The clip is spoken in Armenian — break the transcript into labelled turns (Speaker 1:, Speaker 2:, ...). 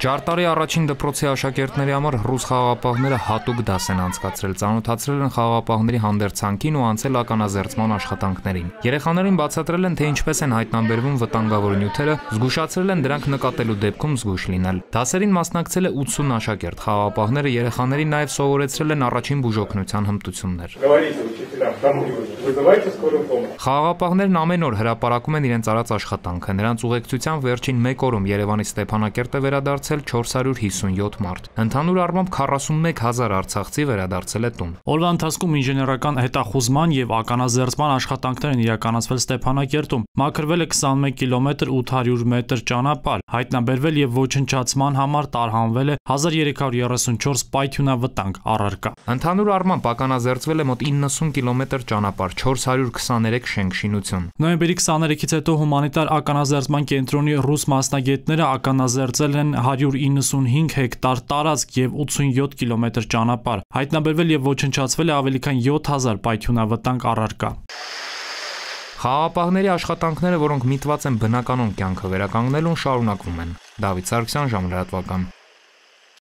Speaker 1: Ջարտարի առաջին դպրոցի աշակերտների համար ռուս խաղաղապահները հատուկ դաս են անցկացրել, ծանոթացրել են խաղաղապահների հանդերձանքին ու անցել ականազերծման աշխատանքներին։ Երեխաներին բացատրել են, թե ինչպես են հայտնաբերվում վտանգավոր նյութերը, զգուշացրել են դրանք նկատելու դեպքում զգույշ լինել։ Դասերին մասնակցել է 80 աշակերտ, խաղաղապահները երեխաներին նաև սովորեցրել են առաջին բուժօգնության հմտություններ։ Խաղաղապահներն ամեն օր հրապարակում են իրենց արած աշխատանքը։ Նրանց ուղեկցությամբ վերջին 1 օրում Երևանի Ստեփանակերտ է վերադարձել 457 մարդ։ Ընդհանուր առմամբ 41,000 արցախցի վերադարձել է տուն։
Speaker 2: Օրվա ընթացքում ինժեներական հետախուզման եւ ականազերծման աշխատանքներ են իրականացվել Ստեփանակերտում։ Մաքրվել է 21 կիլոմետր 800 մետր ճանապարհ, հայտնաբերվել եւ ոչնչացման համար տարհանվել է 1334 պայթյունավտանգ առարկա։
Speaker 1: Ընդհանուր առմամբ ականազերծվել է մոտ 90 կիլոմետր ճանապարհ, 423 շենք-շինություն։
Speaker 2: Նոյեմբերի 23-ից հետո հումանիտար ականազերծման կենտրոնի ռուս մասնագետները ականազերծել են 195 հեկտար տարածք եւ 87 կիլոմետր ճանապարհ։ Հայտնաբերվել եւ ոչնչացվել է ավելի քան 7000 պայթյունավտանգ առարկա։
Speaker 1: Խաղաղապահների աշխատանքները, որոնք միտված են բնականոն կյանքը վերականգնելուն, շարունակվում են։ Դավիթ Սարգսյան, ժամլրատվական։